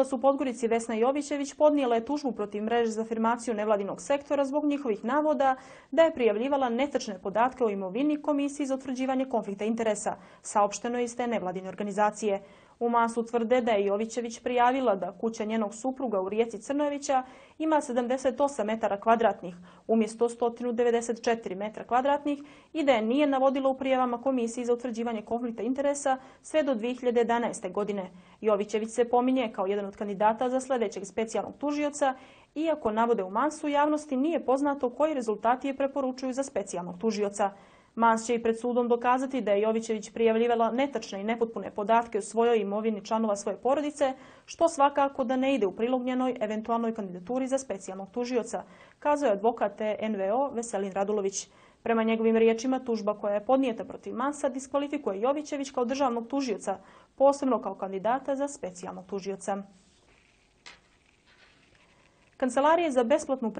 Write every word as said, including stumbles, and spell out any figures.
U Podgorici Vesna Jovićević podnijela je tužbu protiv mreže za afirmaciju nevladinog sektora zbog njihovih navoda da je prijavljivala netačne podatke o imovini Komisiji za utvrđivanje konflikta interesa, saopšteno je iz te nevladine organizacije. U Mansu tvrde da je Jovićević prijavila da kuća njenog supruga u Rijeci Crnojevića ima sedamdeset osam metara kvadratnih umjesto sto devedeset četiri metra kvadratnih i da je nije navodila u prijavama Komisiji za utvrđivanje konflikta interesa sve do dvije hiljade jedanaeste. godine. Jovićević se pominje kao jedan od kandidata za sljedećeg specijalnog tužioca, iako navode u Mansu javnosti nije poznato koji rezultati je preporučuju za specijalnog tužioca. Mans će i pred sudom dokazati da je Jovićević prijavljivala netačne i nepotpune podatke o svojoj imovini članova svoje porodice, što svakako da ne ide u prilog njenoj eventualnoj kandidaturi za specijalnog tužioca, kazao je advokat en ve o Veselin Radulović. Prema njegovim riječima, tužba koja je podnijeta protiv Mansa diskvalifikuje Jovićević kao državnog tužioca, posebno kao kandidata za specijalnog tužioca. Kancelarije za besplatnu